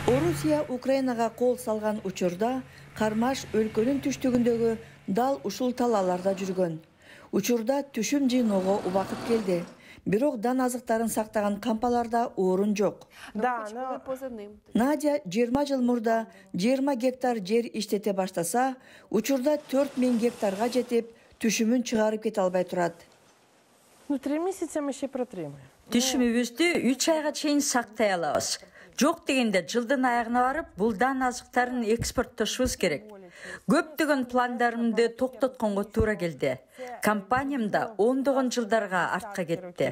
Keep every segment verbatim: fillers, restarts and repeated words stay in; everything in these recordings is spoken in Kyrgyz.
Орусия Украинага кол салган учурда Кармаш өлкөнүн түштүгүндөгү дал ушул талааларда жүргөн. Учурда түшүм жыйноого убакыт келди. Бирок дан азыктарын сактаган кампаларда орун жок. Надя жыйырма жыл мурда жыйырма гектар жер иштете баштаса, учурда төрт миң гектарга жетип, түшүмүн чыгарып кете албай турат. Түшүмүбүздү үч айга чейин сактай алабыз. Жок дегенде жылдын аягына барып, бул дан азыктарын экспорттошубуз керек. Көптөгөн пландарымды токтотконго туура келди. Компаниям да ондогон жылдарга артка кетти.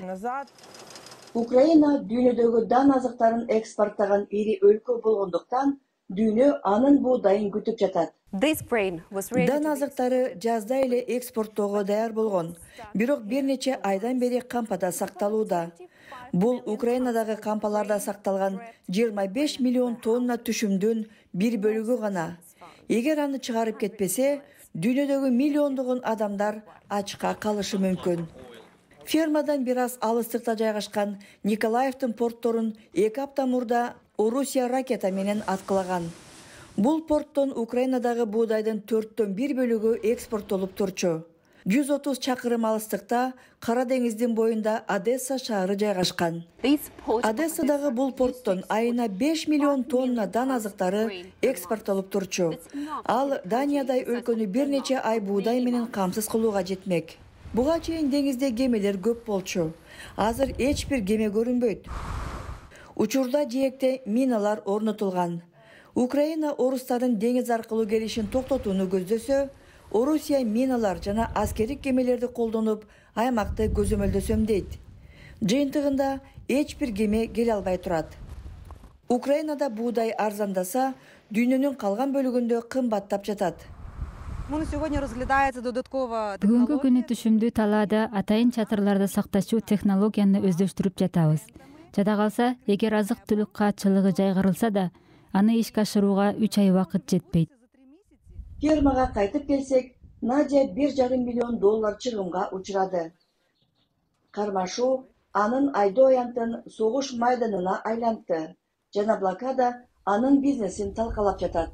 Украина дүйнөдөгү дан азыктарын экспорттогон ири өлкө болгондуктан, дүйнө анын буудайын күтүп жатат. Дан азыктары жазда эле экспорттоого даяр болгон, бирок бир нече айдан бери кампада сакталууда. Бул Украинадагы кампаларда сакталган жыйырма беш миллион тонна түшүмдүн бир бөлүгү гана. Эгер аны чыгарып кетпесе, дүйнөдөгү миллиондогон адамдар ачка калышы мүмкүн. Фермадан бир аз алыстыкта жайгашкан Николаевдин портторун эки апта мурда Орусия ракета менен аткылаган. Бул порттон Украинадагы буудайдын төрттөн бир бөлүгү экспорттолуп турчу. жүз отуз чакырым алыстыкта Кара деңиздин боюнда Одесса шаары жайгашкан. Одессадагы бул порттон айына беш миллион тонна дан азыктары экспорттолуп турчу. Ал Даниядай өлкөнү бир нече ай буудай менен камсыз кылууга жетмек. Буга чейин деңизде кемелер көп болчу. Азыр эч бир кеме көрүнбөйт. Учурда жээкте миналар орнотулган. Украина орустардын деңиз аркылуу келишин токтотууну көздөсө, Орусия миналар жана аскердик кемелерди колдонуп, аймакты көзөмөлдөсөм дейт. Жыйынтыгында эч бир кеме келе албай турат. Украинада буудай арзандаса, дүйнөнүн калган бөлүгүндө кымбаттап жатат. Бүгүнкү күнү түшүмдүү талаада атайын чатырларда сакташуу технологияны өздөштүрүп жатабыз. Жада калса, эгер азык-түлүк каатчылыгы жайгарылса да, аны ишке ашырууга үч ай убакыт жетпейт. Фермага кайтып келсек, Надя бир жарым миллион доллар чыгымга учурады. Кармашуу анын айдоо аянтын согуш майданына айлантты жана блокада анын бизнесин талкалап жатат.